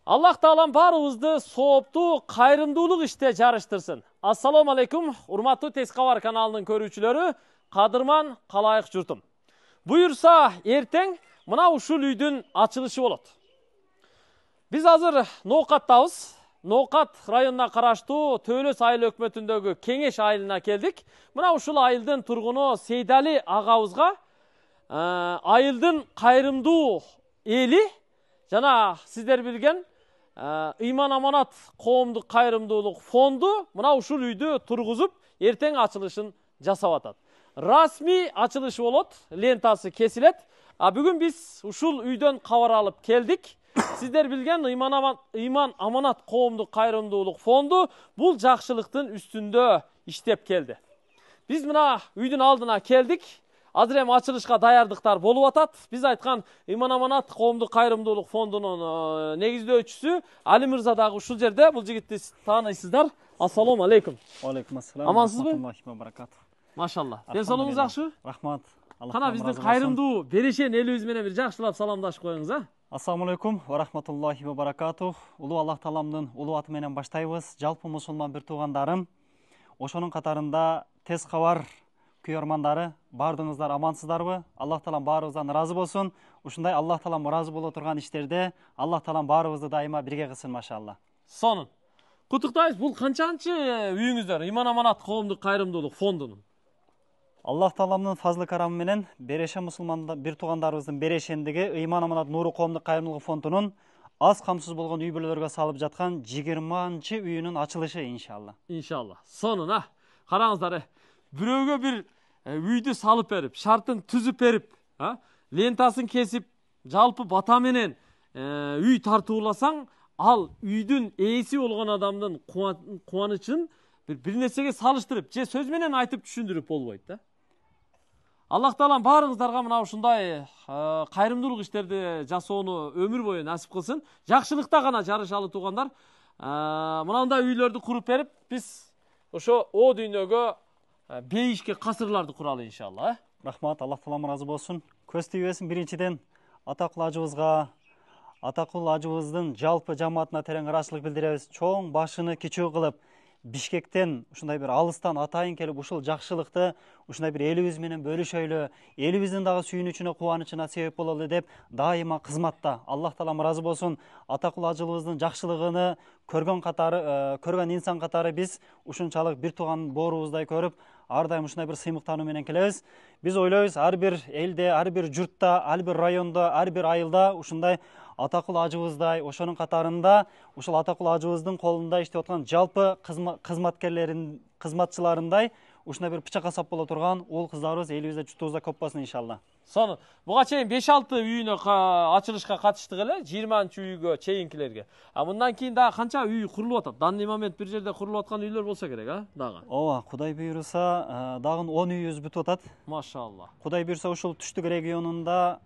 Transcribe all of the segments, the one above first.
Аллах таалам баарыбызды сооптуу, кайрымдуулук иште жарыштырсын. Ассаламу алейкум, урматтуу Тез кабар каналынын көрүүчүлөрү, кадырман калайык журтум. Буюрса, эртең мына ушул үйдүн ачылышы болот. Биз азыр Ноокаттабыз. Ноокат районуна караштуу Төөлөс айыл өкмөтүндөгү Кеңеш айылына келдик. Мына ушул айылдын тургуну Сейдали агабызга айылдын кайрымдуу эли жана сиздер билген Ыйман Аманат коомдук кайрымдуулук фонду мына ушул үйдү тургузуп, эртең ачылышын жасап атат. Расмий ачылышы болот, лентасы кесилет. Бүгүн биз ушул үйдөн кабар алып келдик. Сиздер билген Ыйман Аманат коомдук кайрымдуулук фонду бул жакшылыктын үстүндө иштеп келди. Биз мына үйдүн алдына келдик. Азыр эми ачылышка даярдыктар болуп атат. Биз айткан Ыйман Аманат коомдук кайрымдуулук фондунун негиздөөчүсү Али мырза дагы ушул жерде. Бул жигитти тааныйсыздар. Ассаламу алейкум. Алейкум ассалам. Амансызбы? Баракат. Машалла. Ден соолугуңуз жакшыбы? Рахмат. Кана биздин кайрымдуу берешен элибиз менен бир жакшылап саламдашып коюңуз, а? Ассаламу алейкум ва рахматуллахи ва баракатух. Улуу Аллах тааламдын улуу аты менен баштайбыз. Жалпы мусулман бир туугандарым, ошонун катарында Тез кабар күйөрмандары, баардыгыңыздар амансыздарбы? Аллах таалам баарыбыздан ыраазы болсун. Ушундай Аллах таалам ыраазы боло турган иштерде Аллах таалам баарыбызды дайыма бирге кылсын, машалла. Сонун. Куттуктайбыз. Бул канчанчы үйүңүздөр Ыйман Аманат коомдук кайрымдуулук фондунун? Аллах тааламдын фазлы карамы менен берешен мусулман бир туугандарыбыздын берешендиги Ыйман Аманат нуру коомдук кайрымдуулук фондунун аз камсыз болгон үй бүлөлөргө салып жаткан 20-чы үйүнүн ачылышы иншалла. Иншалла. Сонун, а. Караңыздар, бирөөгө бир үйдү салып берип, шартын түзүп берип, лентасын кесип, жалпы бата менен үй тартууласаң, ал үйдүн ээси болгон адамдын кубанычын бир нерсеге салыштырып, же сөз менен айтып түшүндүрүп болбойт да. Аллах таалам баарыңыздарга мына ушундай кайрымдуулук иштерди жасоону өмүр бою насип кылсын. Жакшылыкта гана жарышалы туугандар. Мынандай үйлөрдү куруп берип, биз ошо о дүйнөгө бейишке касырларды куралы иншалла. Рахмат, Аллах таалам ыраазы болсун. Көз тийбесин. Биринчиден атакул ажыбызга, атакул ажыбыздын жалпы жамаатына терең ыраазычылык билдиребиз. Чоң башыны кичүү кылып, Бишкектен ушундай бир алыстан атайын келип ушул жакшылыкты ушундай бир элибиз менен бөлүшөйлү, элибиздин дагы сүйүнүчүнө, кубанычына себеп бололу деп дайыма кызматта. Аллах таалам ыраазы болсун. Атакул ажыбыздын жакшылыгыны көргөн инсан катары биз ушунчалык бир тууган боорубуздай көрүп, ар дайым ушундай бир сыймыктануу менен келебиз. Биз ойлойбуз, ар бир элде, ар бир журтта, ар бир райондо, ар бир айылда ушундай атакул ажыбыздай, ошонун катарында ушул атакул ажыбыздын колунда иштеп аткан жалпы кызматчыларындай ушундай бир пычак асап боло турган уул кыздарыбыз элибизде, журтубузда көп болсун иншалла. Сонун. Буга чейин 5-6 үйүнө ачылышка катыштык эле, 20-чы үйгө чейинкилерге. Мындан кийин дагы канча үй курулуп атат? Данный момент бир жерде курулуп аткан үйлөр болсо керек, дагы. Ооба, Кудай буйруса, дагы 10 үйүбүз бүтүп атат. Машалла. Кудай буйруса ушул түштүк регионунда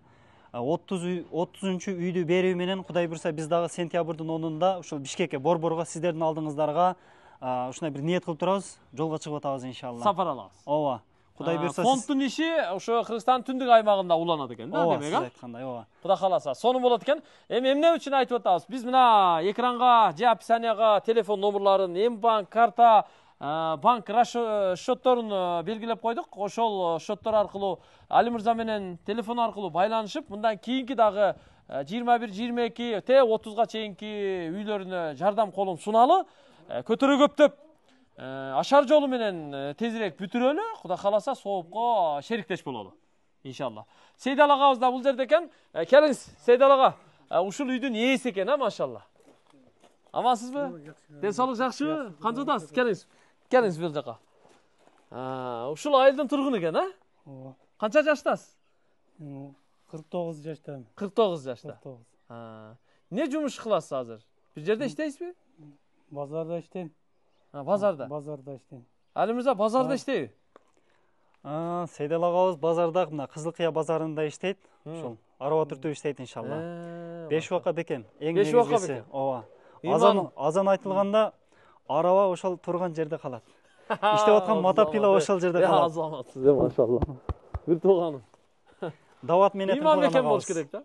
30-чу үйдү берүү менен Кудай буйруса биз дагы сентябрдын 10-унда ушул Бишкекке, Борборго, сиздердин алдыңыздарга ушундай бир ниет кылып турабыз, жолго чыгып атабыз иншалла. Сапар алабыз. Ооба. Кудай буйруса фонддун иши ошо Кыргызстандын түндүк аймагында уланат экен да, демек, Сиз айткандай, ооба. Кудай кааласа, сонун болот экен. Эми эмне үчүн айтып атабыз? Биз мына экранга же описанияга телефон номерларын, М-банк, карта, банк счетторун белгилеп койдук. Ошол счеттор аркылуу Али мырза менен телефон аркылуу байланышып, мындан кийинки дагы 21, 22, 30га чейинки үйлөрүнө жардам колун суналы. Көтөрө көптөп ашар жолу менен тезирээк бүтүрөлү. Кудай кааласа, соопко шериктеш бололу. Иншалла. Сейдал агабыз да бул жерде экен. Келиңиз, Сейдал ага. Ушул үйдүн ээси экен, машалла. Амансызбы? Ден соолук жакшыбы? Канчадасыз? Келиңиз. Келиңиз бул жака. Ушул айылдын тургуну экен, Ооба. Канча жаштасыз? 49 жаштамын. 49 жашта. 49. Не жумуш кыласыз азыр? Бир жерде иштейсизби? Базарда иштейм. Базарда. Базарда иштейм. Али мырза базарда иштейби? Сейдал агабыз базарда, мына Кызылкыя базарында иштейт. Ушул араба түртүп иштейт иншалла. 5 вака бекен. Эң негизгиси. Ооба. Азан айтылганда араба ошол турган жерде калат. Иштеп аткан мотопила ошол жерде калат. Азаматсыз, машалла. Бир тууганым. Дават менен имам экен болуш керек да.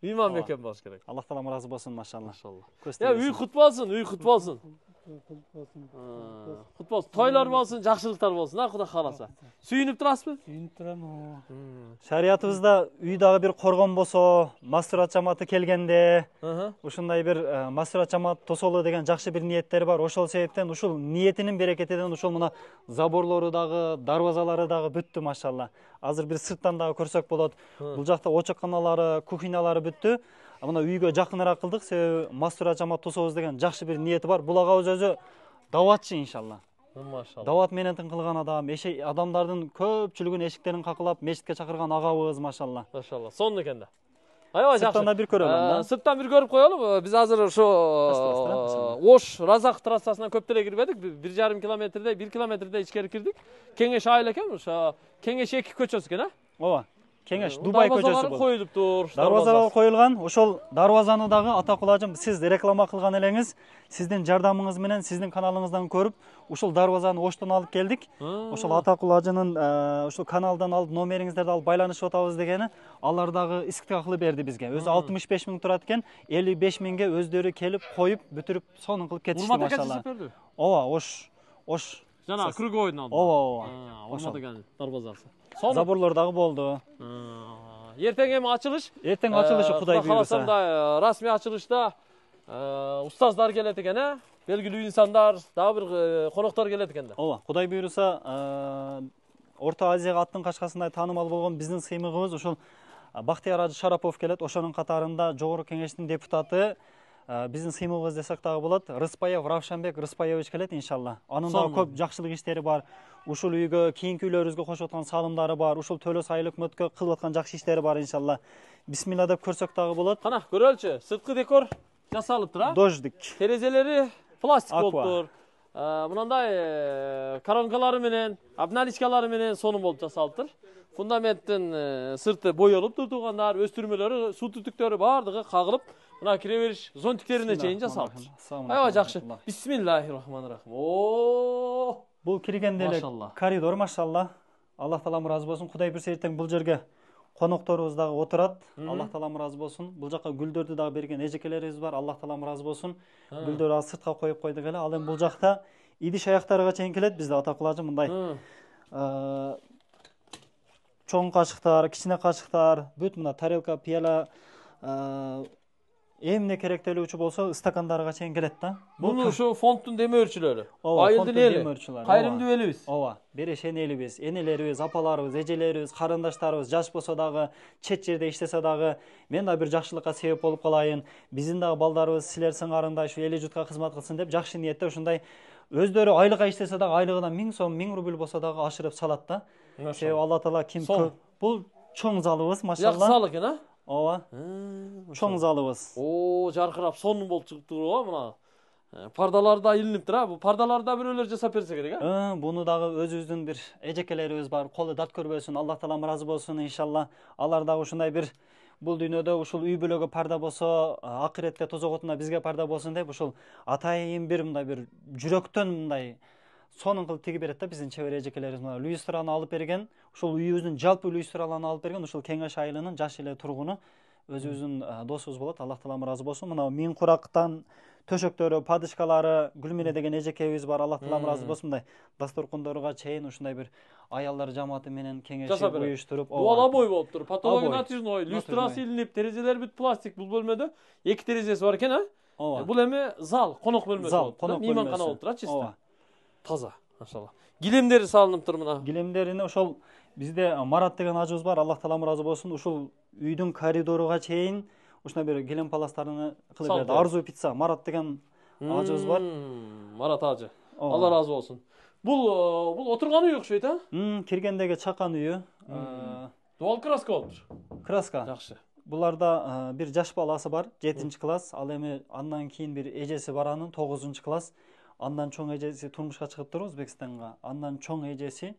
Мейман бекем болуш керек. Аллах таалам ыраазы болсун, машалла. Машалла. Көз Я үй кут болсун, үй кут болсун. Кут болсун. Тойлор болсун, жакшылыктар болсун, Кудай кааласа. Сүйүнүп турасызбы? Сүйүнүп турам. Шариятыбызда үй дагы бир коргон болсо, мастурат жамааты келгенде, ушундай бир мастурат жамаат тосолу деген жакшы бир ниеттер бар. Ошол себептен ушул ниетинин берекетинен ушул мына заборлору дагы, дарбазалары дагы бүттү, машалла. Азыр бир сырттан дагы көрсөк болот. Бул жакта очокканалары, кухнялары бүттү. Мына үйгө жакыныраак кылдык, себеби мастурат жамаат тособуз деген жакшы бир ниети бар. Бул ага өзү даватчы, иншалла. Машалла. Дават менен кылган адам, адамдардын көпчүлүгүн эшиктерин какылап мечитке чакырган агабыз, машалла. Машалла. Сонун экен да. Аябай жакшы. Сырттан да бир көрөлүм да. Сырттан бир көрүп коелу. Биз азыр ошо Ош Разак трассасына көп деле кирбедик. 1,5 километрдей, 1 километрдей ичкери кирдик. Кеңеш айыл экен, ошо Кеңеш 2 көчөсү экен, Ооба. Кеңеш Дубай көчөсү бул. Коюлуптур. Дарбазалар коюлган. Ошол дарбазаны дагы атакул ажым сиз реклама кылган элеңиз, сиздин жардамыңыз менен, сиздин каналыңыздан көрүп, ушул дарбазаны Оштон алып келдик. Ошол атакул ажынын ушул каналдан алып номериңиздерди алып байланышып атабыз дегени, алар дагы искиткә кылып берди бизге. Өзү 65 миң турат экен, 55 миңге өздөрү келип коюп, бүтүрүп, сонун кылып кетишти, машалла. Ооба, Ош. Жана круговойдун алдында. Ооба. Урмат экен дарбазасы. Заборлор дагы болду. Эртең эми ачылыш. Эртең ачылышы Кудай буйруса. Каласам расмий ачылышта устаздар келет экен, белгилүү инсандар, дагы бир коноктор келет экен да. Ооба, Кудай буйруса, Орто Азияга аттын качкасындай таанымал болгон биздин сыймыгыбыз ушул Бактияр Ажы Шарапов келет. Ошонун катарында Жогорку Кеңештин депутаты, биздин сыймыгыбыз десек дагы болот, Рыспаев Равшанбек Рыспаевич келет, иншалла. Анын дагы көп жакшылык иштери бар. Ушул үйгө, кийинки үйлөрүбүзгө кошуп аткан салымдары бар. Ушул Төлөс айыл өкмөткө кылып аткан жакшы иштери бар, иншалла. Бисмилла деп көрсөк дагы болот. Кана, көрөлчү. Сырткы декор жасалыптыр, Дождик. Терезелери пластик болуптур. Мындай коронкалары менен, обналичкалары менен сонун болуп жасалыптыр. Фундаменттин сырты боелуптур, туугандар, өстүрмөлөрү, суу түтүктөрү бардыгы кагылып, мына кире бериш зонтиктерине чейин жасалыптыр. Аябай жакшы. Бисмиллахиррахманиррахим. Бул киргенде эле коридор, машалла. Аллах таалам ыраазы болсун. Кудай буйруса эртең бул жерге конокторубуз дагы отурат. Аллах таалам ыраазы болсун. Бул жака гүлдөрдү дагы берген эжекелерибиз бар. Аллах таалам ыраазы болсун. Гүлдөрдү азыр сыртка коюп койдук эле. Ал эми бул жакта идиш аяктарга чейин келет. Бизде атакул ажы мындай чоң кашыктар, кичине кашыктар, бүт мына тарелка, пияла, эмне керектелүүчү болсо стакандарга чейин келет да. Бул ушу фонддун демөөрчүлөрү. Айылдын эли, кайрымдуу элибиз. Ооба, берешен элибиз, энелерибиз, апаларыбыз, эжелерибиз, карындаштарыбыз жаш болсо дагы, чет жерде иштесе дагы, мен да бир жакшылыкка себеп болуп калайын. Биздин дагы балдарыбыз силер сыңарындай ушу эли журтка кызмат кылсын деп жакшы ниетте ушундай өздөрү айлыкка иштесе дагы айлыгынан 1000 сом, 1000 рубль болсо дагы ашырып салат да. Себеби Алла таала ким көп. Бул чоң залыбыз, машалла. Жакшы зал экен, Ооба. Чоң залыбыз. Жаркырап сонун болуп чыгыптыр го, мына. Пардалар да илиниптир, бу пардаларды да бирөөлөр жасап берсе керек, Буну дагы өзүбүздүн бир эжекелерибиз бар, колу дат көрбөсүн, Аллах таалам ыраазы болсун, иншалла. Алар дагы ушундай бир бул дүйнөдө ушул үй бүлөгө парда болсо, акыретте тозоготуна бизге парда болсун деп ушул атайын бир мындай бир жүрөктөн мындай сонун кылып тиги берет да биздин чебер эжекелерибиз. Мына люстраны алып берген, ушул үйүбүздүн жалпы люстраларын алып берген, ушул Кеңеш айылынын жаш эле тургуну өзүбүздүн досубуз болот. Аллах таалам ыраазы болсун. Мына миң курактан төшөктөрү, падышкалары, Гүлмире деген эжекебиз бар. Аллах таалам ыраазы болсун. Мындай дасторкондорго чейин ушундай бир аялдар жамааты менен кеңешип уюштуруп, дуалабой болуптур. Потологу натяжной, люстрасы илинип, терезелер бүт пластик. Бул бөлмөдө 2 терезеси бар экен, Бул эми зал, конок бөлмөсү болуп, мейманкана болуп турат, чисто. Таза, машалла. Килемдери салыныптыр мына. Килемдерини ошол бизде Марат деген ажыбыз бар. Аллах таалам ыраазы болсун. Ушул үйдүн коридоруга чейин ушундай бир килем паластарын кылып берди. Арзу пицца Марат деген ажыбыз бар. Марат ажы. Алла ыраазы болсун. Бул отурган үй окшойт, Киргендеги чакан үйү. Дуал краска болуптур. Краска. Жакшы. Буларда бир жаш баласы бар, 7-класс. Ал эми андан кийин бир эжеси бар анын 9-класс. Андан чоң эжеси турмушка чыгыптыр Өзбекстанга. Андан чоң эжеси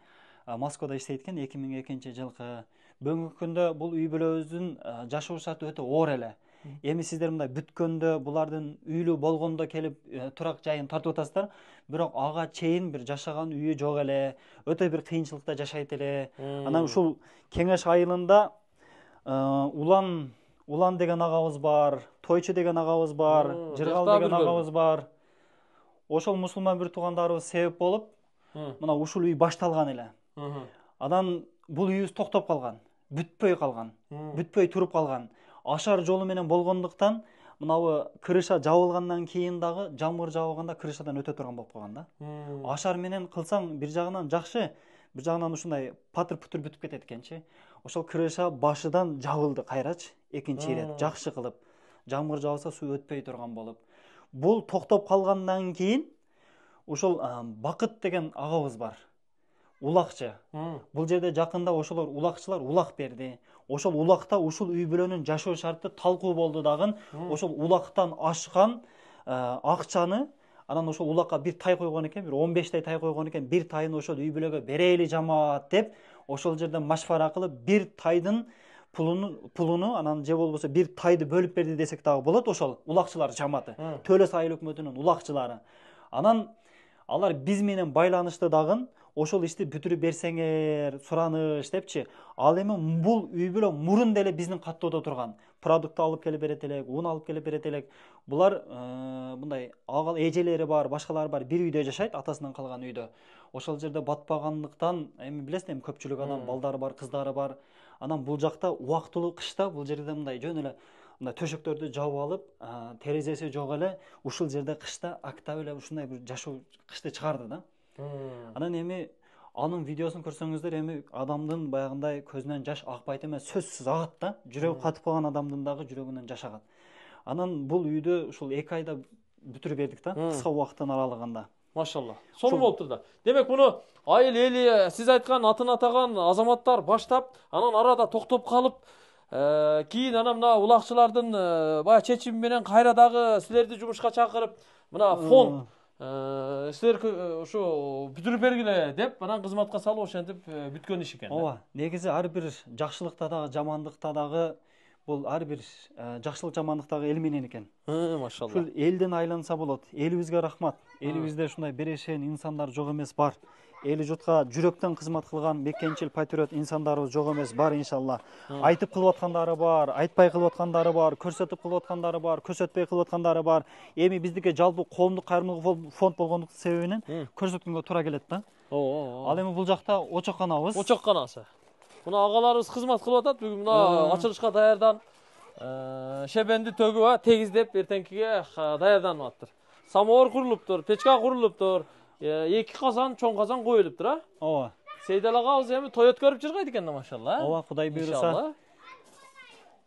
Москвада иштейт экен 2002-жылкы. Бүгүнкү күндө бул үй бүлөбүздүн жашоо шарты өтө оор эле. Эми сиздер мындай бүткөндө, булардын үйлүү болгондо келип турак жайын тартып атасыздар, бирок ага чейин бир жашаган үйү жок эле, өтө бир кыйынчылыкта жашайт эле. Анан ушул Кеңеш айылында Улан деген агабыз бар, Тойчу деген агабыз бар, Жыргал деген агабыз бар. Ошол мусулман бир туугандарыбыз себеп болуп, мына ушул үй башталган эле. Анан бул үйүбүз токтоп калган, бүтпөй калган, бүтпөй туруп калган. Ашар жолу менен болгондуктан мынабы крыша жабылгандан кийин дагы жамгыр жааганда крышадан өтө турган болуп калган да. Ашар менен кылсаң бир жагынан жакшы, бир жагынан ушундай патыр-путур бүтүп кетет экенчи. Ошол крыша башыдан жабылды кайрачы, экинчи ирет жакшы кылып. Жамгыр жааса суу өтпөй турган болуп. Бул токтоп калгандан кийин ошол Бакыт деген агабыз бар. Улакчы. Бул жерде жакында ошолор улакчылар улак берди. Ошол улакта ушул үй бүлөнүн жашоо шарты талкуу болду дагы. Ошол улактан ашкан акчаны анан ошол улакка бир тай койгон экен, бир 15 тай койгон экен. Бир тайын ошол үй бүлөгө берели жамаат деп, ошол жерден машвара кылып бир тайдын пулуну анан же болбосо бир тайды бөлүп берди десек дагы болот. Ошол улакчылар жамааты, Төлөс айыл өкмөтүнүн улакчылары. Анан алар биз менен байланышты дагы, ошол ишти бүтүрүп берсеңер сураныш депчи. Ал эми бул үй бүлө мурун деле биздин каттоодо турган. Продукт алып келип берет элек, ун алып келип берет элек. Булар мындай агал эжелери бар, башкалары бар, бир үйдө жашайт, атасынан калган үйдө. Ошол жерде батпагандыктан, эми билесиз, эми көпчүлүк адам балдары бар, кыздары бар. Анан бул жакта убактылуу кышта бул жерде мындай жөн эле мындай төшөктөрдү жаап алып, терезеси жок эле ушул жерде кышта актап эле ушундай бир жашоо кышты чыгарды да. Анан эми анын видеосун көрсөңүздөр, эми адамдын баягындай көзүнөн жаш акпайт эмес, сөзсүз агат да. Жүрөгү катып калган адамдын дагы жүрөгүнөн жаш агат. Анан бул үйдү ушул 2 айда бүтүрүп бердик да, кыска убакыттын аралыгында. Машалла. Сону болуптур да. Демек муну айыл эли, сиз айткан атын атаган азаматтар баштап, анан арада токтоп калып, кийин анан мына улакчылардын баягы чечими менен кайра дагы силерди жумушка чакырып, мына фонд силер ушу бүтүрүп бергиле деп анан кызматка салып ошентип бүткөн иш экен. Ооба, негизи ар бир жакшылыкта дагы, жамандыкта дагы бул ар бир жакшылык жамандык дагы эл менен экен. Машалла. Ушул элден айланса болот. Элибизге рахмат. Элибизде ушундай берешен инсандар жок эмес, бар. Эли журтка жүрөктөн кызмат кылган бекенчил патриот инсандарыбыз жок эмес, бар иншалла. Айтып кылып аткандары бар, айтпай кылып аткандары бар, көрсөтүп кылып аткандары бар, көрсөтпөй кылып аткандары бар. Эми биздики жалпы коомдук кайрымдуулук фонд болгондук себебинен көрсөткөнгө туура келет да. Ал эми бул жакта очокканабыз. Очокканасы. Мына агаларыбыз кызмат кылып атат. Бүгүн мына ачылышка даярдан шебенди төгүп, тегиздеп эртеңкиге даярданып аттыр. Самовар курулуптур, печка курулуптур. 2 казан, чоң казан коюлуптур, а? Ооба. Сейдал агабыз эми той өткөрүп жыргайт экен да, машалла. Ооба, Кудай буйруса.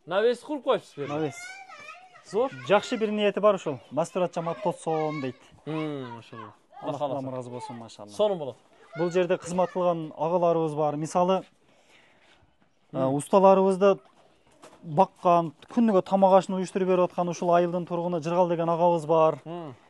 Навес куруп коюпсуз. Навес. Зор. Жакшы бир ниети бар ушул. Мастурат жамаат тосом дейт. Машалла. Аллах разы болсун, машалла. Сону болот. Бул жерде кызмат кылган агаларыбыз бар. Мисалы, усталарыбызды баккан, күнүгө тамак ашын уюштуруп берип аткан ушул айылдын тургуну Жыргал деген агабыз бар.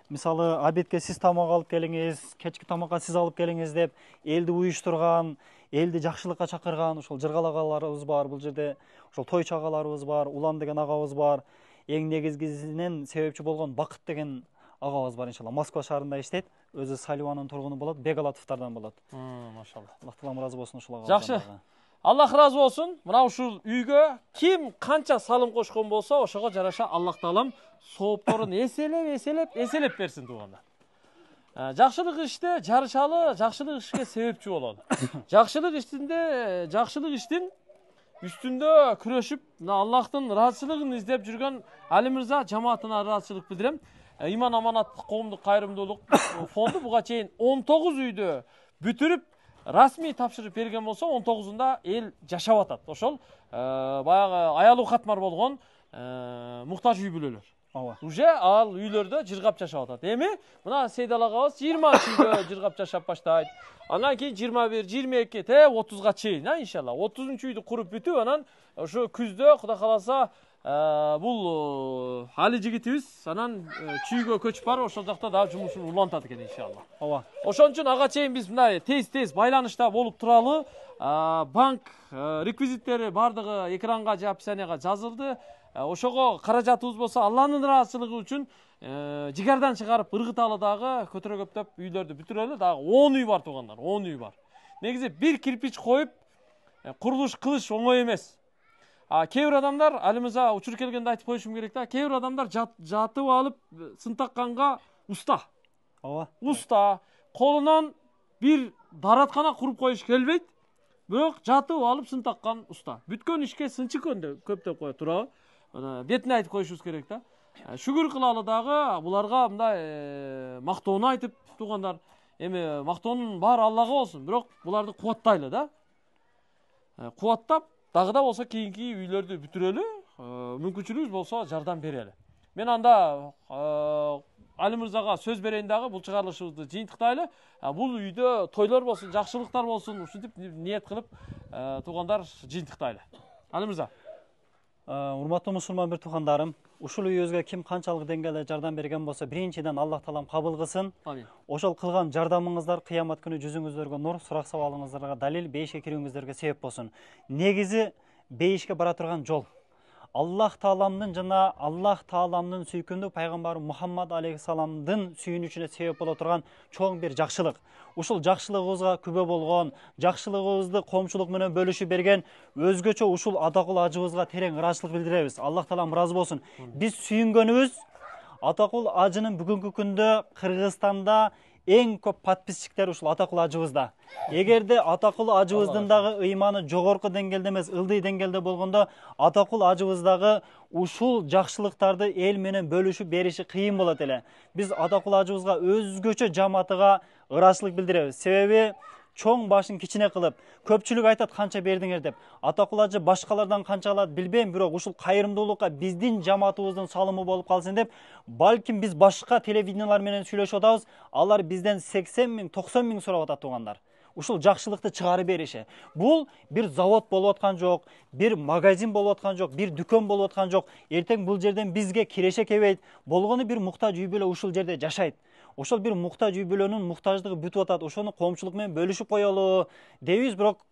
Мисалы, обедке сиз тамак алып келиңиз, кечки тамакка сиз алып келиңиз деп элди уюштурган, элди жакшылыкка чакырган ушул Жыргал агаларыбыз бар. Бул жерде ошол Тойчу агаларыбыз бар, Улан деген агабыз бар. Эң негизгисинен себепчи болгон Бакыт деген агабыз бар, иншалла. Москва шаарында иштейт. Өзү Саливанын тургуну болот, Бегалатовдордон болот. Машалла. Аллах таалам разы болсун ушул агабыздан. Жакшы. Аллах разы болсун. Мына ушул үйгө ким канча салым кошкон болсо, ошого жараша Аллах таалам соопторун эселеп берсин туугандар. Жакшылык иште жарышалы, жакшылык ишке себепчи бололу. Жакшылык иштин үстүндө күрөшүп, Аллахтын ыраазычылыгын издеп жүргөн Али мырза жамаатына ыраазычылык билдирем. Иман аманат коомдук кайрымдуулук фонду буга чейин 19 үйдү бүтүрүп расмий тапшырып берген болсо, 19-унда эл жашап атат. Ошол баягы аялуу катмар болгон муктаж үй бүлөлөр. Уже ал үйлөрдө жыргап жашап атат. Эми мына Сейдал агабыз 20-үйдө жыргап жашап баштайт. Анан кийин 21, 22, 30га чейин, иншалла. 30-үйдү куруп бүтүп, анан ошо күздө Кудай кааласа бул Али жигитибиз анан чүйгө көчүп барып, ошол жакта дагы жумушун улантат экен, иншалла. Ооба. Ошон үчүн ага чейин биз мындай тез байланышта болуп туралы. Банк реквизиттери бардыгы экранга же описанияга жазылды. Ошого каражатыбыз болсо, Алланын ыраазычылыгы үчүн жигардан чыгарып ыргыталы дагы көтөрө көптөп үйлөрдү бүтүрөлү. Дагы 10 үй бар туугандар, 10 үй бар. Негизи бир кирпич коюп курулуш кылыш оңой эмес. кээ бир адамдар Али мырза учур келгенде айтып коюшум керек да. Кээ бир адамдар жатып алып сын такканга уста. Ооба. Уста, колунан бир дараткана куруп коюш келбейт. Бирок жатып алып сын таккан уста. Бүткөн ишке сынчыкөндөй көптөп коет туурабы? Бетине айтып коюшубуз керек да. Шүгүр кылалы дагы буларга мындай мактоону айтып туугандар. Эми мактоонун баары Аллага болсун, бирок буларды кубаттайлы да. Кубаттап дагы да болсо кийинки үйлөрдү бүтүрөлү, мүмкүнчүлүгүбүз болсо жардам берели. Мен анда Али мырзага сөз берейин дагы бул чыгарылышыбызды жыйынтыктайлы. Бул үйдө тойлор болсун, жакшылыктар болсун, ушинтип ниет кылып туугандар жыйынтыктайлы. Али мырза. Урматтуу мусулман бир туугандарым, ушул үйүбүзгө ким канчалык деңгээлде жардам берген болсо, биринчиден Аллах таалам кабыл кылсын. Амин. Ошол кылган жардамыңыздар кыямат күнү жүзүңүздөргө нур, сурак сабалыңыздарга далил, бейишке кирүүңүздөргө себеп болсун. Негизи бейишке бара турган жол Аллах Тааламдын жана Аллах Тааламдын сүйкүндүү пайгамбары Мухаммад алейхиссаламдын сүйүнүчүнө себеп боло турган чоң бир жакшылык. Ушул жакшылыгыбызга күбө болгон, жакшылыгыбызды коомчулук менен бөлүшүп берген өзгөчө ушул Атакул ажыбызга терең ыраазычылык билдиребиз. Аллах Таалам ыраазы болсун. Биз сүйүнгөнүбүз Атакул ажынын бүгүнкү күндө Кыргызстанда эң көп подписчиктер ушул Атакул ажыбызда. Эгерде Атакул ажыбыздын дагы ыйманы жогорку деңгээлде эмес, ылдый деңгээлде болгондо Атакул ажыбыздагы ушул жакшылыктарды эл менен бөлүшүп бериши кыйын болот эле. Биз Атакул ажыбызга өзгөчө жамаатыга ыраазычылык билдиребиз. Себеби чоң башын кичине кылып, көпчүлүк айтат канча бердиңер деп. Атакул ажы башкалардан канча алат билбейм, бирок ушул кайрымдуулукка биздин жамаатыбыздын салымы болуп калсын деп, балким биз башка телевидениялар менен сүйлөшүп атабыз, алар бизден 80 миң, 90 миң сурап атат туугандар. Ушул жакшылыкты чыгарып бериши. Бул бир завод болуп аткан жок, бир магазин болуп аткан жок, бир дүкөн болуп аткан жок. Эртең бул жерден бизге киреше келбейт. Болгону бир муктаж үй бүлө ушул жерде жашайт. Ошол бир муктаж үй бүлөнүн муктаждыгы бүтүп атат. Ошону коомчулук менен бөлүшүп коелу дейбиз, бирок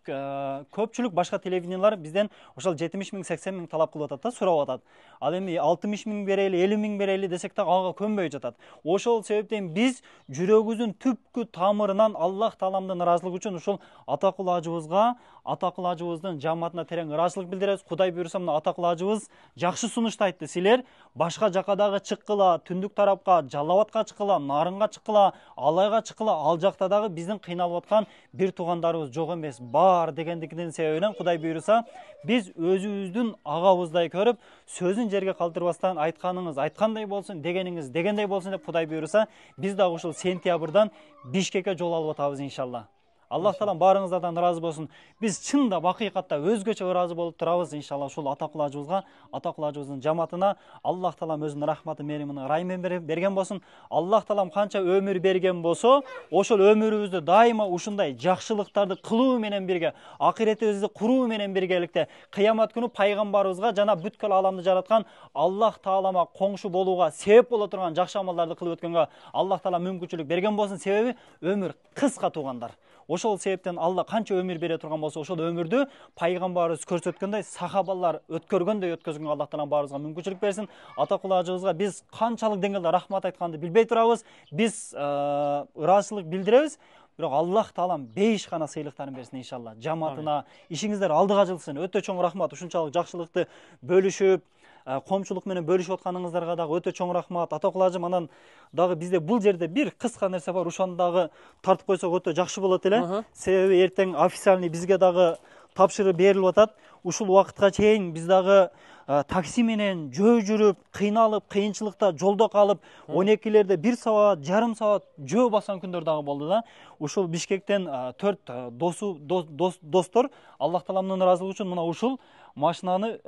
көпчүлүк башка телевидениялар бизден ошол 70 миң, 80 миң талап кылып атат да, сурап атат. Ал эми 60 миң берели, 50 миң берели десек да ага көнбөй жатат. Ошол себептен биз жүрөгүбүздүн түпкү тамырынан Аллах Тааламдын ыраазылыгы үчүн ушул Атакул ажыбызга, Атакул ажыбыздын жамаатына терең ыраазычылык билдиребиз. Кудай буйруса, мына Атакул ажыбыз жакшы сунушту айтты. Силер башка жака дагы чыккыла, түндүк тарапка, Жалал Абадка чыккыла, Нарынга чыккыла, Алайга чыккыла, ал жакта дагы биздин кыйналып аткан бир туугандарыбыз жок эмес, бар дегендикинин себебинен Кудай буйруса, биз өзүбүздүн агабыздай көрүп, сөзүн жерге калтырбастан айтканыңыз айткандай болсун, дегениңиз дегендей болсун деп Кудай буйруса, биз дагы ушул сентябрдан Бишкекке жол алып атабыз иншалла. Аллах Таалам баарыңыздардан ыраазы болсун. Биз чында акыйкатта өзгөчө ыраазы болуп турабыз иншалла ушул Атакул ажыбызга, Атакул ажыбыздын жамаатына. Аллах Таалам өзүнүн рахматы, мээримин, ырайымын берген болсун. Аллах Таалам канча өмүр берген болсо, ошол өмүрүбүздү дайыма ушундай жакшылыктарды кылуу менен бирге, акыретибизди куруу менен биргеликте кыямат күнү пайгамбарыбызга жана бүткүл ааламды жараткан Аллах Таалама коңшу болууга себеп боло турган жакшы амалдарды кылып өткөнгө Аллах Таалам мүмкүнчүлүк берген болсун. Себеби өмүр кыска туугандар. Ошол себептен Алла канча өмүр бере турган болсо, ошол өмүрдү пайгамбарыбыз көрсөткөндөй, сахабалар өткөргөндөй өткөзгөнгө Аллах Таалам баарыбызга мүмкүнчүлүк берсин. Атакул ажыбызга биз канчалык деңгээлде рахмат айтканды билбей турабыз. Биз ыраазычылык билдиребиз. Бирок Аллах Таалам бейиш гана сыйлыктарын берсин иншалла. Жамаатына ишиңиздер алдыга жылсын. Өтө чоң рахмат. Ушунчалык жакшылыкты бөлүшүп, коомчулук менен бөлүшүп атканыңыздарга дагы өтө чоң рахмат. Атакул ажым, анан дагы бизде бул жерде бир кыска нерсе бар, ошону дагы тартып койсок өтө жакшы болот эле. Себеби эртең официальный бизге дагы тапшырып берилип атат. Ушул убакытка чейин биз дагы такси менен жөө жүрүп, кыйналып, кыйынчылыкта жолдо калып, 12лерде 1 саат, жарым саат жөө баскан күндөр дагы болду да. Ушул Бишкектен 4 достор Аллах Тааламдын ыраазылыгы үчүн мына ушул машинаны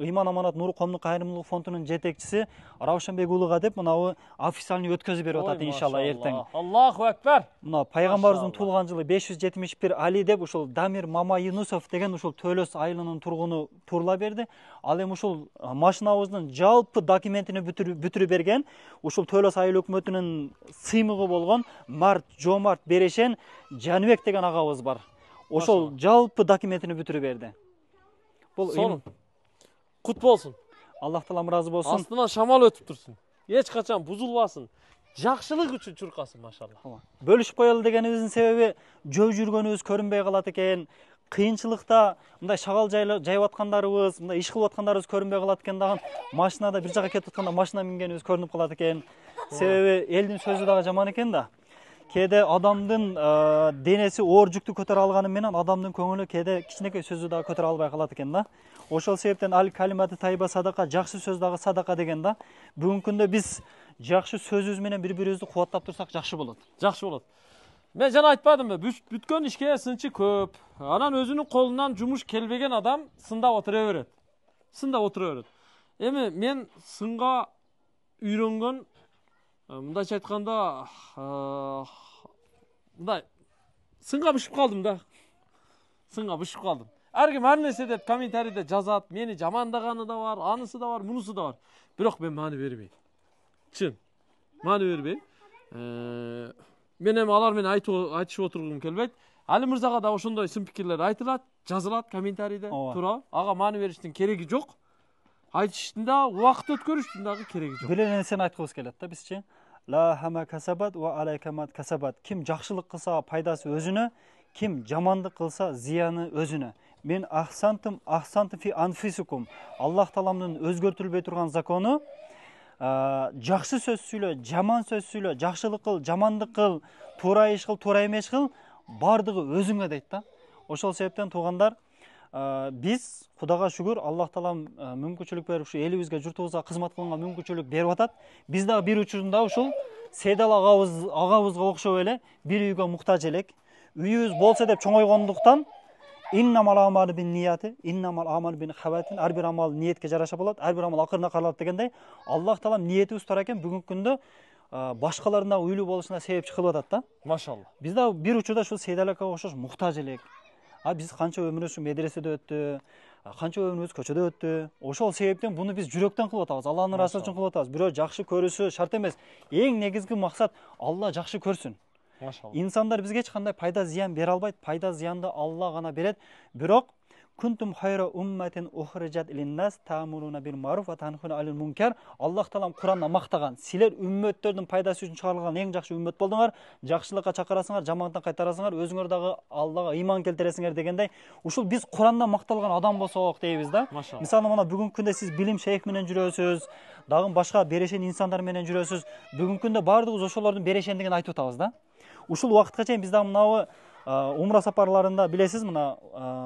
ыйман аманат нуру коомдук кайрымдуулук фондунун жетекчиси Раушанбек уулуга деп мынабы официальный өткөзүп берип атат иншалла эртең. Аллаху акбар. Мына пайгамбарыбыздын туулган жылы 571 Али деп ушул Дамир Мама Юнусов деген ушул Төлөс айылынын тургуну турла берди. Ал эми ушул машинабыздын жалпы документини бүтүрүп берген ушул Төлөс айыл өкмөтүнүн сыймыгы болгон Март Жомарт Берешен Жаныбек деген агабыз бар. Ошол жалпы документини бүтүрүп берди. Сонун. Кут болсун. Аллах Таалам ыраазы болсун. Астынан шамал өтүп турсун. Эч качан бузулбасын. Жакшылык үчүн чуркасын, машалла. Бөлүшүп коелу дегенибиздин себеби жөө жүргөнүбүз көрүнбөй калат экен. кыйынчылыкта мындай шагал жайып аткандарыбыз, мындай иш кылып аткандарыбыз көрүнбөй калат экен дагы. Машинада бир жака кетип атканда машина мингенибиз көрүнүп калат экен. Себеби элдин сөзү дагы жаман экен да. Кээде адамдын денеси оор жүктү көтөрө алганы менен адамдын көңүлү кээде кичинекей сөзү дагы көтөрө албай калат экен да. Ошол себептен ал калиматы тайба садака, жакшы сөз дагы садака деген да. Бүгүнкү күндө биз жакшы сөзүбүз менен бири-бирибизди кубаттап турсак жакшы болот. Жакшы болот. Мен жана айтпадымбы, бүткөн ишке сынчы көп. Анан өзүнүн колунан жумуш келбеген адам сындап отура берет. Сындап отура берет. Эми мен сынга үйрөнгөн, мындайча айтканда, мындай сынга бышып калдым да. Сынга бышып калдым. Ар ким ар нерсе деп комментарийде жазат, мени жамандаганы да бар, анысы да бар, мунусу да бар. Бирок мен маани бербейм. Чын. Маани бербейм. Мен эми алар менен айтышып отургум келбейт. Али мырзага да ошондой сын пикирлер айтылат, жазылат комментарийде, туура. Ага маани бериштин кереги жок. Айтыштын да, убакыт өткөрүштүн дагы кереги жок. Бир эле нерсени айткыбыз келет да бизчи. Ла хама касабат ва алайкамат касабат. Ким жакшылык кылса пайдасы өзүнө, ким жамандык кылса зыяны өзүнө. Мен ахсантым фи анфисукум. Аллах Тааламдын өзгөртүлбөй турган закону жакшы сөз сүйлө, жаман сөз сүйлө, жакшылык кыл, жамандык кыл, туура иш кыл, туура эмес кыл, бардыгы өзүңө дейт да. Ошол себептен туугандар, биз Кудайга шүгүр, Аллах Таалам мүмкүнчүлүк берип, ушу элибизге, журтубузга кызмат кылганга мүмкүнчүлүк берип атат. Биз дагы бир учурунда ушул Сейдал агабызга окшоп эле бир үйгө муктаж элек. Үйүбүз болсо деп чоңойгондуктан иннамал амалу бин нияти, иннамал амалу бин хаватин, ар бир амал ниетке жараша болот, ар бир амал акырына каралат дегендей, Аллах Таалам ниетибиз тура экен, бүгүнкү күндө башкалардын да уйлуу болушуна себепчи кылып атат да. Машалла. Биз да бир учурда ушул Сейдал акага окшош муктаж элек. Биз канча өмүрүбүз медреседе өттү, канча өмүрүбүз көчөдө өттү. Ошол себептен буну биз жүрөктөн кылып атабыз, Алланын ыраазычылыгы үчүн кылып атабыз. Бирөө жакшы көрүшү шарт эмес. Эң негизги максат Алла жакшы көрсүн. Машалла. Инсандар бизге эч кандай пайда зыян бере албайт. Пайда зыянды Алла гана берет. Бирок кунтум хайра умматин ухриджат линнас таамуруна бил маруф ва танхуна алил мункар. Аллах Таалам Куранда мактаган. Силер үммөттөрдүн пайдасы үчүн чыгарылган эң жакшы үммөт болдуңар. Жакшылыкка чакырасыңар, жамандыктан кайтарасыңар, өзүңөр дагы Аллага ыйман келтиресиңер дегендей. Ушул биз Куранда макталган адам болсок дейбиз да. Мисалы мына бүгүнкү күндө сиз билим шейх менен жүрөсүз, дагы башка берешен инсандар менен жүрөсүз. Бүгүнкү күндө баардыгыбыз ошолордун берешендигин айтып атабыз да. Ушул убакытка чейин биз дагы мынабы умра сапарларында билесиз, мына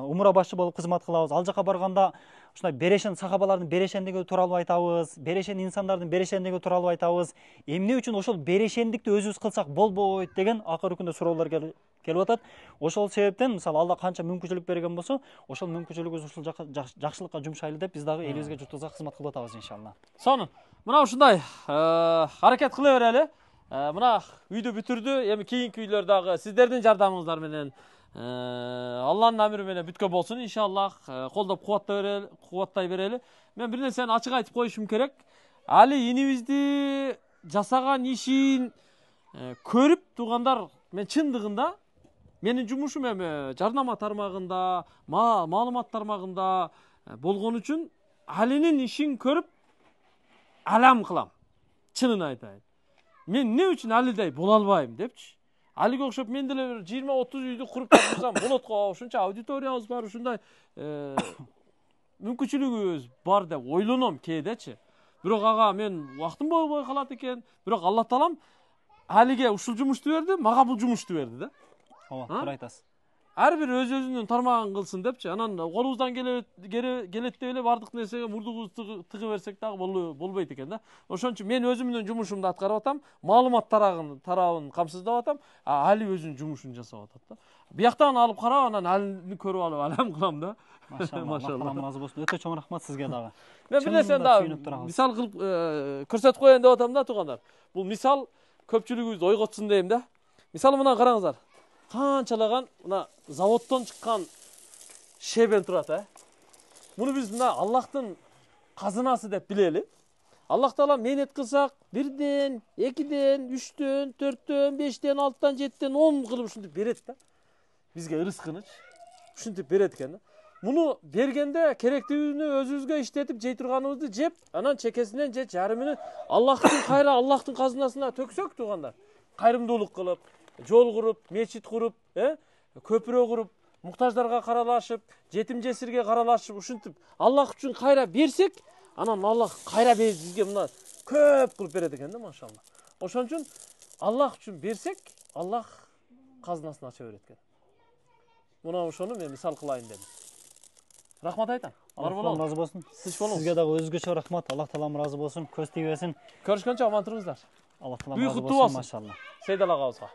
умра башчы болуп кызмат кылабыз. Ал жака барганда ушундай берешен сахабалардын берешендиги тууралуу айтабыз, берешен инсандардын берешендиги тууралуу айтабыз. Эмне үчүн ошол берешендикти өзүбүз кылсак болбойт деген акыркы күндө суроолор келип атат. Ошол себептен мисалы Алла канча мүмкүнчүлүк берген болсо, ошол мүмкүнчүлүгүбүз ушул жакшылыкка жумшайлы деп биз дагы элибизге, журтубузга кызмат кылып атабыз иншалла. Сонун. Мына ушундай аракет кыла берели. Мына үйдү бүтүрдү. Эми кийинки үйлөр дагы сиздердин жардамыңыздар менен Алланын амри менен бүткөн болсун иншаллах. Колдоп кубаттай берели. Мен бир нерсени ачык айтып коюшум керек. Али инибизди жасаган ишин көрүп туугандар, мен чындыгында менин жумушум эми жарнама тармагында, маалымат тармагында болгон үчүн Алинин ишин көрүп алам кылам. Чынын айтайын. Мен эмне үчүн Алидей боло албайм депчи. Алиге окшоп мен деле 20-30 үйдү куруп жатсам болот го, ушунча аудиториябыз бар, ушундай мүмкүнчүлүгүбүз бар деп ойлоном кээдечи. Бирок ага мен убактым болбой калат экен. Бирок Алла Таалам Алиге ушул жумушту берди, мага бул жумушту берди да. Ооба, туура айтасыз. Ар бир өзүнүн тармагын кылсын депчи. Анан колубуздан келет деп эле бардык нерсеге мурдубузду тыгы берсек дагы болбойт экен да. Ошон үчүн мен өзүмдүн жумушумду аткарып атам, маалымат тарабын камсыздап атам, Али өзүнүн жумушун жасап атат да. Бияктан алып карап, анан Алини көрүп алып алам кылам да. Машалла. Разы болсун. Өтө чоң рахмат сизге дагы. Мен бир нерсени дагы мисал кылып көрсөтүп коеюн деп атам да туугандар. Бул мисал көпчүлүгүбүздү ойготсун дейм да. Мисалы мына караңыздар. Канчалаган мына заводдон чыккан шебен турат, Муну биз мына Аллахтын казынасы деп билели. Аллах Таала мээнет кылсак, 1ден, 2ден, 3дөн, 4дөн, 5ден, 6дан, 7ден, 10 кылып ушинтип берет да. Бизге ырыскыныч ушинтип берет экен да. Муну бергенде керектүүнү өзүбүзгө иштетип жей турганыбызды жеп, анан чекесинен же жарымын Аллахтын кайра, Аллахтын казынасына төксөк туугандар. Кайрымдуулук кылып, жол куруп, мечит куруп, көпүрө куруп, муктаждарга каралашып, жетим жесирге каралашып, ушинтип Аллах үчүн кайра берсек, анан Аллах кайра бизге мына көп кылып берет экен да, машалла. Ошон үчүн Аллах үчүн берсек, Аллах казынасын ача берет экен. Мына ошону мен мисал кылайын дедим. Рахмат айтам. Бар болоңуз. Разы болсун. Сиз болоңуз. Сизге дагы өзгөчө рахмат. Аллах таалам разы болсун. Көз тийбесин. Көрүшкөнчө аман туруңуздар. Аллах таалам Үй разы куттуу болсун, болсун. машалла. Сейдал агабызга.